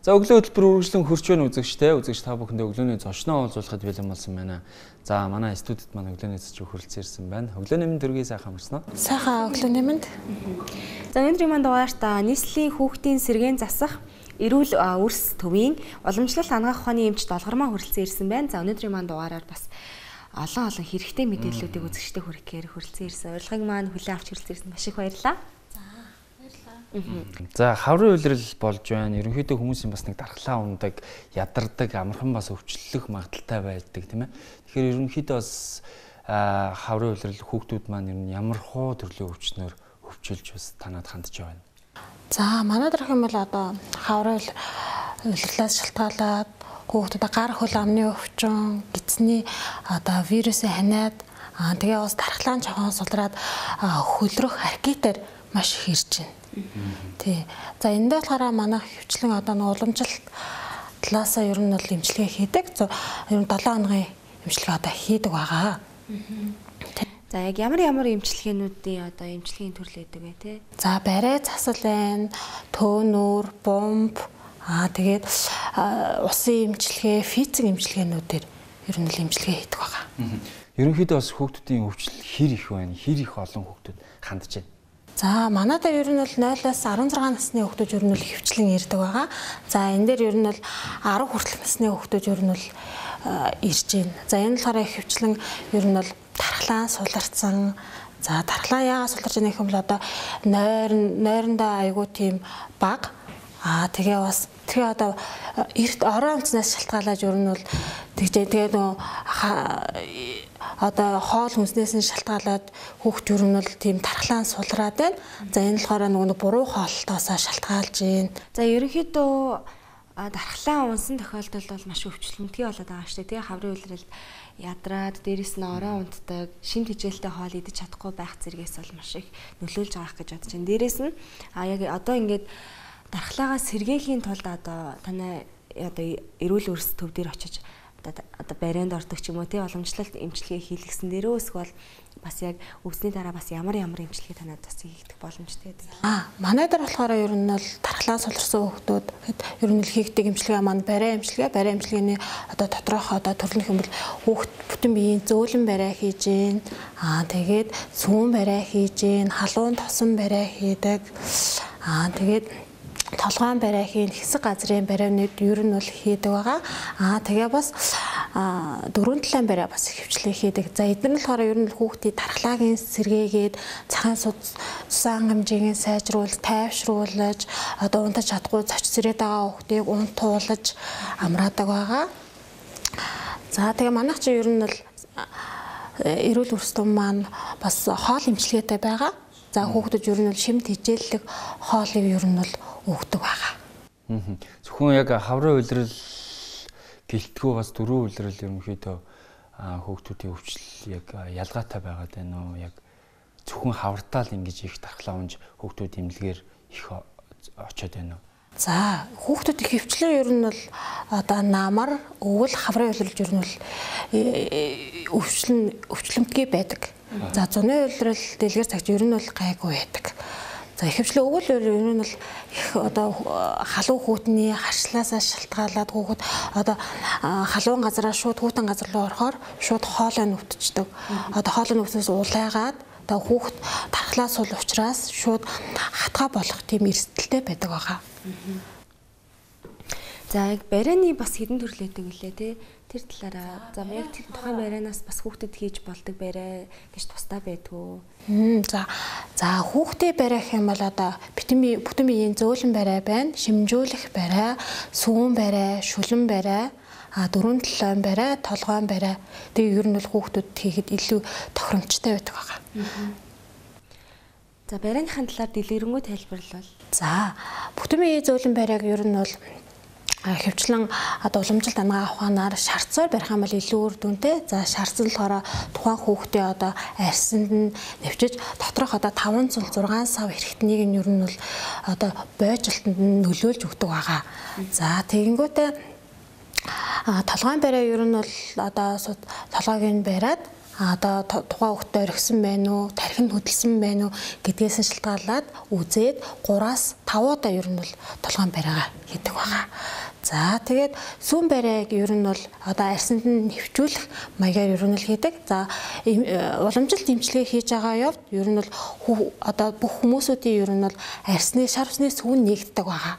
За өглөө хөтөлбөр үргэлжлэн хурж байна үзэгчтэй. Үзэгч та бүхэндээ өглөөний зочноо уулзуулахад бэлэн болсон байна. За манай студид маань өглөөний зоч хөрөлцөн ирсэн байна. Өглөөний мэнд төргий сайхан амарсан уу? Сайхан өглөөний мэнд. За өнөөдрийн маань дугаарт нийслэлийн хүүхдийн сэргээн засах эрүүл үрс төвийн уламжлалт хангах ухааны эмч долгормоо хөрөлцөн ирсэн байна. За өнөөдрийн маань дугаараар бас олон хэрэгтэй мэдээллүүдийг үзэгчтэй хүргэхээр хөрөлцөн ирсэн. Урилгыг маань хүлээн авч хөрөлцөн ирсэн маш их баярлалаа. За хаврын улирал болж байна. Ерөнхийдөө хүмүүсийн бас нэг дархлаа ундаг, ядардаг, амархан бас өвчлөх магадaltaй байдаг тийм ээ. Тэгэхээр ерөнхийдөө бас хаврын улирал хүүхдүүд маань ер нь ямар хуу төрлийн өвчнөөр өвчилж бас танад хандж байна. За манай дарах юм бол одоо хаврын улирлаас шалтгаалаад хүүхдүүдэд гар хөл амны өвчин, гидсний одоо вирусын ханиад тэгээ бас дархлаан жоохон сулраад хөлрөх аркетер маш их ирж байна. Тий. За энэ дээр болохоор манай хөвчлэн одоо нэг уламжлалт талаасаа ер нь бол эмчилгээ хийдэг. Ер нь 7 хоногийн эмчилгээ одоо хийдэг байгаа. За яг ямар эмчилгээнүүдийн одоо эмчилгээний төрөл байдаг вэ те? За барай засал байна, төөнүүр, бомб, тэгээд усын эмчилгээ, физик эмчилгээнүүдээр ер нь л эмчилгээ хийдэг байгаа. Ерөнхийдөө бас хүүхдүүдийн өвчл хэр их байна? Хэр их олон хүүхдүүд хандж байна? За манай дээр ер нь бол 0-аас 16 насны хүүхдүүд ер нь л хөвчлэн ирдэг байгаа. За энэ дээр ер нь бол 10 хүртэлх насны хүүхдүүд ер нь бол ирж байна. За энэ болохоор хөвчлэн ер нь бол дархлаа суларцсан. За дархлаа яагаад суларч байгаа юм бол одоо нойрондоо айгуу тийм баг. Тэгээ бас тэгээ одоо эрт орон амтнаас шалтгаалаад ер нь бол тэгээ нөө одоо хоол хүнснээс нь шалтгаалаад хүүхд ер нь бол тийм дархлаан сулраад байна. За энэ болохоор нөгөө буруу хоолтоосоо шалтгаалж байна. За ерөнхийдөө дархлаан унсан тохиолдолд бол маш өвчлөлтгий болоод байгаа шүү дээ. Тэгээ хаврын улиралд ядраад дээрэс нь орон унтдаг, шин тэжээлтэй хоол идэж чадахгүй байх зэрэгээс бол маш их нөлөөлж байгаа гэж бодож байна. Дээрэс нь яг одоо ингээд дархлаагаа сэргээхийн тулд одоо танай одоо эрүүл үрс төв дээр очиж одоо барианд ордог ч юм уу тий уламжлалт эмчилгээ хийлгэсэн дээрөө эсвэл бас яг өвсний дараа бас ямар эмчилгээ танад бас хийгдэх боломжтой байдаг. Манай дээр болохоор ер нь бол дархлаа суларсан хүүхдүүд ер нь л хийгдэг эмчилгээ маань барай эмчилгээний одоо доторх одоо төрөлх юм бол хүүхд бүтэн биеийн зөөлөн барай хийж гин. Тэгээд сүүн барай хийж гин, халуун тосон барай хийдэг. Тэгээд толгойн барай хийн, хэсэг газрын барайнууд ер нь бол хийдэг байгаа. Тэгээ бас дөрвөн талын барай бас хөвчлээ хийдэг. За эдгээр нь болохоор ер нь хүүхдийн дархлаагийн сэргээгээд цагаан цусан хэмжээгээ сайжруулж, тайвшруулж, одоо унтаж чадахгүй зоч зэрэг байгаа хүүхдийг унтуулж амраадаг байгаа. За тэгээ манайх чи ер нь бол эрүүл үрс том маань бас хоол эмчилгээтэй байгаа. За хүүхдүүд ер нь бол шимт хичээллэг хоолыг ер нь бол өгдөг байгаа. Зөвхөн яг хаврын улирал гэлтгүү бас дөрвөн улирал ерөнхийдөө хүүхдүүдийн өвчл яг ялгаатай байгаад байна уу? Яг зөвхөн хавртаа л ингэж их дархлаа унж хүүхдүүд эмнэлгээр их очиод байна уу? За хүүхдүүдийн хөвчлэн ер нь бол одоо намар, өвөл, хаврын улирал ер нь бол өвчлөмтгий байдаг. За зуны улирал дэлгэр цагт ер нь бол гайгүй байдаг. За ихэвчлэн өвөл ер нь бол их одоо халуун хүүтний харшлаасаа шалтгаалаад хүүхэд одоо халуун газараа шууд хүүтэн газар руу орохоор шууд хоолой нүвтждэг. Одоо хоолой нүвснээс улайгаад одоо хүүхэд дархлаа сул учраас шууд хатгаа болох тийм эрсдэлтэй байдаг байгаа. За яг барайны бас хэдэн төрөл байдаг үлээ те. Тэр талаараа за яг тухайн барайнаас бас хүүхдэд хийж болдог барай гэж тусдаа байдгүй. За хүүхдийн барай гэх юм бол одоо бүтэн биеийн зөөлөн барай байна, шимжүүлэх барай, сүүн барай, шүлэн барай, дөрвөн талын барай, толгойн барай. Тэгээ ер нь бол хүүхдүүд хийхэд илүү тохиромжтой байдаг байгаа. За барайныхын талаар дэлгэрэнгүй тайлбарлал. За бүтэн биеийн зөөлөн барайг ер нь бол хөвчлэн одоо уламжлалт ангаа ухаанаар шарцаар барих юм бол илүү үр дүнтэй. За шарц нь болохоор тухайн хүүхдээ одоо арьсанд нь нэвчиж доторх одоо 5 цул 6 сав хэрэгтнийг нь ер нь бол одоо бойжлтанд нь нөлөөлж өгдөг байгаа. За тэгэнгүүтээ толгойн барай ер нь бол одоо толгойг нь бариад одоо тухайн хүүхдэд орхисон байна уу, тархинд хөдөлсөн байна уу гэдгээс нь шалтгаалаад үзээд 3-аас 5 удаа ер нь бол толгойн бариагаа хийдэг байгаа. За тэгээд сүүн барайг ер нь бол одоо арьсанд нь нэвчүүлэх маягаар ер нь л хийдэг. За уламжилт эмчилгээ хийж байгаа явд ер нь бол одоо бүх хүмүүсүүдийн ер нь бол арьсны шар усны сүүн нээгддэг байгаа.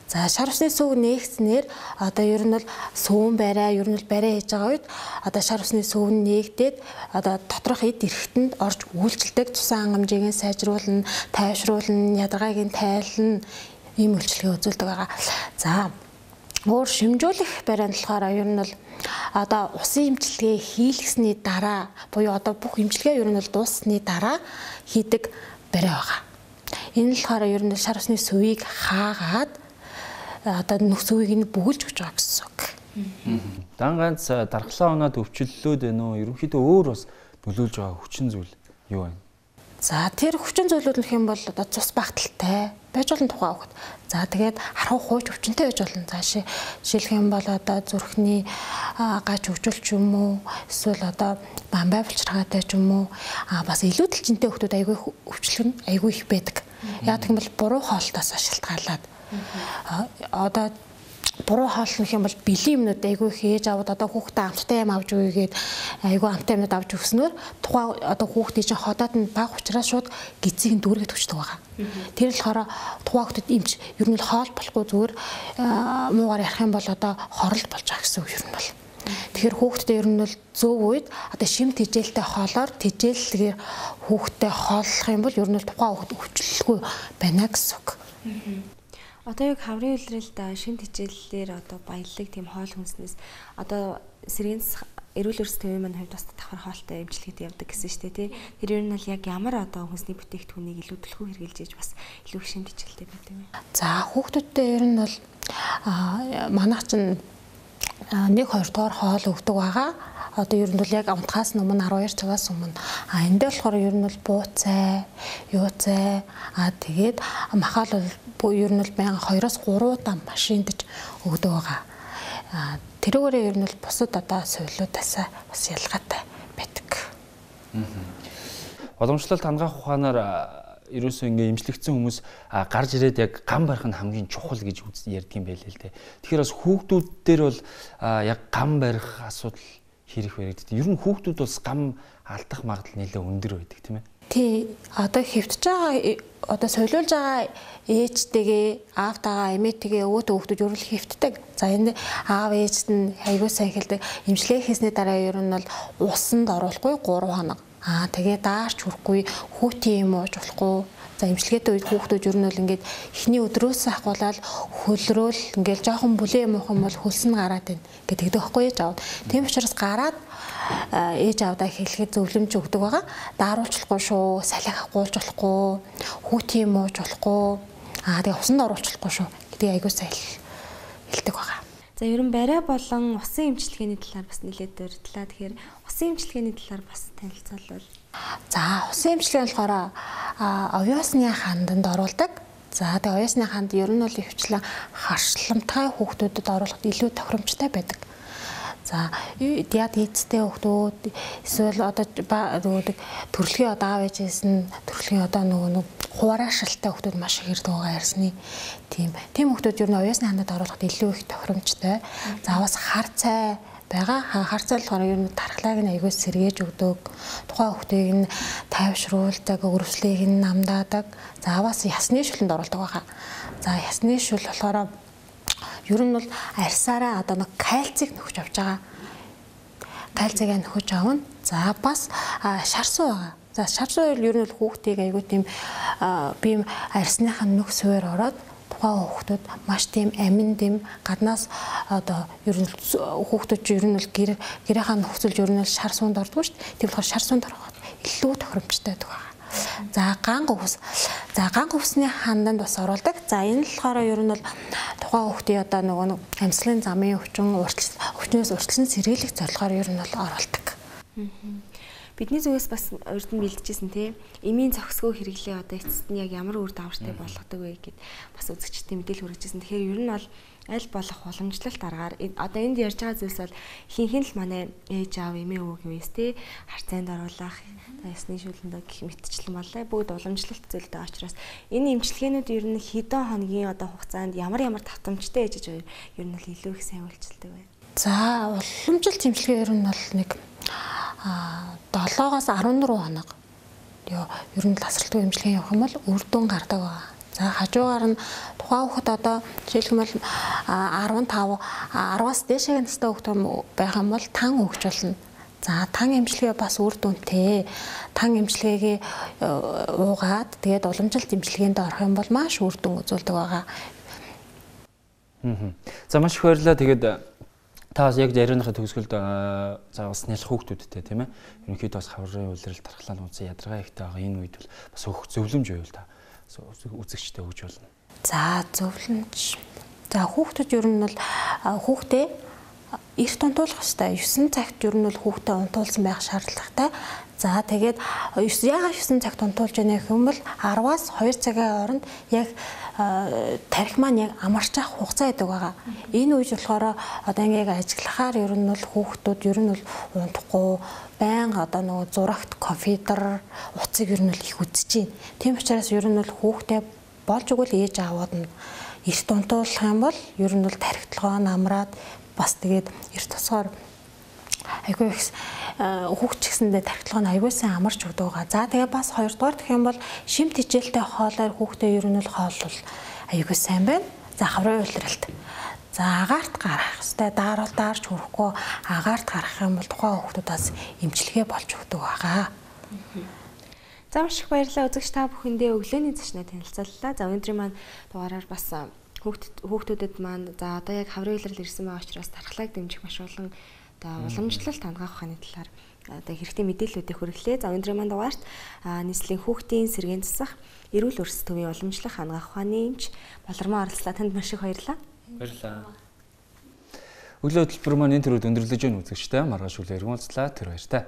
За шар усны сүүг нээгдснээр одоо ер нь бол сүүн барай ер нь бол барай хийж байгаа үед одоо шар усны сүүн нээгдээд одоо доторх эд эрэхтэнд орж үйлчлдэг, цусан хангамжийг сайжруулна, тайвшруулна, ядаргааг нь тайлна, ийм үйлчлэгээ үзүүлдэг байгаа. За өөр шимжүүлэх барай нь болохоор ер нь бол одоо усын эмчилгээ хийлгэсний дараа буюу одоо бүх эмчилгээ ер нь бол дууссаны дараа хийдэг барай байгаа. Энэ нь болохоор ер нь шар усны сувийг хаагаад одоо нүс үеийг нь бүгэлж өгч байгаа гэсэн үг. Дан ганц дархлаа унаад өвчлөлөөд байна уу? Ерөнхийдөө өөр бас нөлөөлж байгаа хүчин зүйл юу вэ? За тэр хүчин зүйлүүд нөх юм бол одоо цус багталтай байж болно тухайн хүүхэд. За тэгээд харах хууч өвчнөй байж болно. За жишээлх юм бол одоо зүрхний гач хөгжүүлч юм уу? Эсвэл одоо бамбай булчирхаатай ч юм уу? Бас илүү дэлжинтэй хүүхдүүд айгүй өвчлөл нь айгүй их байдаг. Яг тийм бол буруу хоолтоос шалтгаалаад одоо буруу хооллох юм бол бэлэн юмнууд айгүй хийж аваад одоо хүүхдээ амттай юм авч өгөөгээд айгүй амттай юмнууд авч өгснөөр тухайн одоо хүүхдийн чинь ходоод нь баг учраас шууд гизийг нь дүүргээд өчтдөг байгаа. Тэр л болохоор тухайн хүүхдэд эмч ер нь л хоол болохгүй зүгээр муугаар ярих юм бол одоо хоролт болж байгаа гэсэн үг ер нь бол. Тэгэхээр хүүхдэд ер нь бол зөв үед одоо шим тэжээлтэй хоолоор тэжээллэгээр хүүхдэд хооллох юм бол ер нь л тухайн хүүхд өвчлөлгүй байна гэсэн үг. Одоо яг хаврын үйлрэлд шин тэжээллээр одоо баялаг тийм хоол хүнснээс одоо сэргэнс эрүүл эрс төвийн маань хувьд бас давхар хоолтой эмчилгээд явдаг гэсэн шүү дээ тий. Тэр ер нь бол яг ямар одоо хүнсний бүтээгдэхүүнийг илүү төлхөө хэрэгжилж иж бас илүү их шин тэжээлтэй байдаг юм. За хүүхдүүдтэй ер нь бол манайх чинь 1-2 дугаар хоол өгдөг байгаа. Одоо ер нь бол яг унтахаас өмнө 12 цагаас өмнө. Энд дээр болохоор ер нь бол буу цай, юу цай, тэгээд махаал бол ер нь бол 2-3 удаа машиндж өгдөг байгаа. Тэрүүгээрээ ер нь бол бусад одоо суйлуудаас бас ялгаатай байдаг. Уламжлалт хангах ухаанаар ерөөсөө ингээ имжлэгдсэн хүмүүс гарч ирээд яг гам барих нь хамгийн чухал гэж ярьдаг юм байлээ л дээ. Тэгэхээр бас хүүхдүүд дээр бол яг гам барих асуудал хэрэг баригддаг. Ер нь хүүхдүүд бас гам алдах магадлал нэлээд өндөр байдаг тийм ээ. Тий, одоо хэвтэж байгаа одоо солиулж байгаа ээжтэйгээ аавтайгаа эмээтэйгээ өвөд хүүхдүүд ер нь хэвтдэг. За энэ аав ээжт нь айгуу сайн хэлдэг. Имжлэг хийсний дараа ер нь бол усанд оруулахгүй 3 хоног. Тэгээ даарч хүрэхгүй хүүтийн юм ууж болохгүй. За имчилгээтэй үед хүүхдүүд ер нь бол ингээд эхний өдрөөс ахуулаад хөлрөөл ингээд жоохон бүлээн муухан бол хөлс нь гараад байна гэдэг тэгэхгүй ээж аав. Тийм учраас гараад ээж аавдаа хэлэхэд зөвлөмж өгдөг байгаа. Дааруулчлахгүй шүү, салхи хагуулж болохгүй, хүүтийн юм ууж болохгүй. Тэгээ усанд оруулчлахгүй шүү гэдэг айгуу сайн хэлдэг байгаа. За ер нь барай болон усан эмчилгээний талаар бас нэлээд дурдлаа. Тэгэхээр усан эмчилгээний талаар бас танилцуулбал. За усан эмчилгээ болохоор овёсны ханданд оруулдаг. За тэгээ овёсны ханд ер нь бол өвчлэн харшламтай хүүхдүүдэд оруулахад илүү тохиромжтой байдаг. За диад эцтэй хүүхдүүд эсвэл одоо төрөлхийн одоо аав ээжээс нь төрөлхийн одоо нөгөө хуваараа шалтай хүүхдүүд маш их ирдэг байгаа ярьсны тийм хүүхдүүд ер нь овёсны хандад оруулахад илүү их тохиромжтой. За бас хар цай байгаа. Хар цай болохоор ер нь тархлааг нь аягүй сэргээж өгдөг. Тухайн хүүхдийг нь тайвшруулдаг, өрөвслийг нь намдаадаг. За бас ясны шүлэнд оруулдаг байгаа. За ясны шүл болохоор ер нь бол арьсаараа одоо нэг кальцийг нөхөж авч байгаа. Кальцийг нөхөж авна. За бас шар суу байгаа. За шар суу ер нь бол хүүхдийг аягүй тийм бие арьсныхаа нүх суур ороод тухайн хүүхдүүд маш тийм амин тийм гаднаас одоо ер нь хүүхдүүд ер нь бол гэрийнхаа нөхцөлж ер нь бол шар суунд ордог шүү дээ. Тийм болохоор шар суунд ороход илүү тохиромжтой байдаг. За ганг өвсний ханданд бас оруулдаг. За энэ л болохоор ер нь бол тухайн хүүхдийн одоо нөгөө амьслын замын өвчнөөс урьдчилан сэргийлэх зорилгоор ер нь бол оруулдаг. Бидний зүгээс бас урд нь бэлдэжсэн тий. Эмийн зохисгөө хэрэглээ одоо эцэст нь яг ямар үр дагавартай болгодог вэ гэд бас үзэгчдийн мэдээлэл хүргэжсэн. Тэгэхээр ер нь бол аль болох уламжлалт аргаар одоо энд ярьж байгаа зүйлс бол хинхэн л манай ээж аав эмээ өвөг юуэс тий харцаанд оруулах ясны шүлэндээ гэх мэтчлэн болоо бүгд уламжлалт зүйлтэй учраас энэ эмчилгээнүүд ер нь хэдэн хоногийн одоо хугацаанд ямар давтамжтай ээж гэж ер нь бол илүү их сайн үйлчилдэг байна. За уламжлалт эмчилгээ ер нь бол нэг 7-оос 14 хоног ер нь тасралтгүй эмчилгээ явах юм бол үр дүн гардаг байна. За хажуугаар нь тухайн хүүхэд одоо жишээлбэл 15 10-аас дээшээ настай хүүхэд байх юм бол тан өгч болно. За тан эмчилгээ бас үр дүнтэй. Тан эмчилгээгээ уугаад тэгээд уламжлалт эмчилгээнд орох юм бол маш үр дүн үзүүлдэг байгаа. За маш их баярлалаа. Тэгээд та бас яг ярианыхаа төгсгөлд за бас нялх хүүхдүүдтэй тийм ээ. Ерөнхийдөө бас хаврын үйлрэл тархлаа нууцсан ядаргаа ихтэй байгаа энэ үед бол бас зөвлөмж байвал та үзэгчтэй өгч болно. За зөвлөмж. За хүүхдүүд ер нь бол хүүхдээ эрт унтуулах хэрэгтэй. 9 цагт ер нь бол хүүхдээ унтуулсан байх шаардлагатай. За тэгээд яагаад 9 цагт унтуулж байна гэх юм бол 10-аас 2 цагийн хооронд яг тархи маань яг амарч авах хугацаа гэдэг байгаа. Энэ үеж болохоор одоо ингээд ажиллахаар ер нь бол хүүхдүүд ер нь бол унтахгүй байнга одоо нөгөө зурагт компьютер утсыг ер нь бол их үзэж байна. Тийм учраас ер нь бол хүүхдээ болж игэл ээж аавууд нь эрт унтуулах юм бол ер нь бол тархитлогоо намраад бас тэгээд эрт тосгоор айгүй их хүүхд ч гэсэндээ тархитлогоо нь айгүй сайн амарч өгдөг байгаа. За тэгээд бас хоёрдугаар гэх юм бол шимт хичээлтэй хоолоор хүүхдээ ер нь бол хоол айгүй сайн байна. За хаврын үйлрэлт. За агаарт гарах хэвээр дааруул даарч хүрэхгүй агаарт гарах юм бол тухайн хүүхдүүдээс эмчилгээ болж өгдөг байгаа. За маш их баярлалаа үзэгч та бүхэндээ өглөөний зочноо танилцууллаа. За өнөөдрийн маань дугаараар бас хүүхдүүдэд маань за одоо яг хаврын үйлрэл ирсэн байгаа учраас тархлааг дэмжих маш олон одоо уламжлалт хангах ухааны талаар одоо хэрэгтэй мэдээллүүдийг хүргэлээ. За өнөөдрийн маань дугаарт нийслэлийн хүүхдийн сэргээн засах эрүүл өрс төвийн уламжлах хангах ухааны эмч Балармаа оролцлоо. Танд маш их баярлалаа. Баярлалаа. Өглөө хөтөлбөр маань энэ төрөд өндөрлөж өгөн үзэгчтэй маргааш үлээр уулзлаа. Тэр баяртай.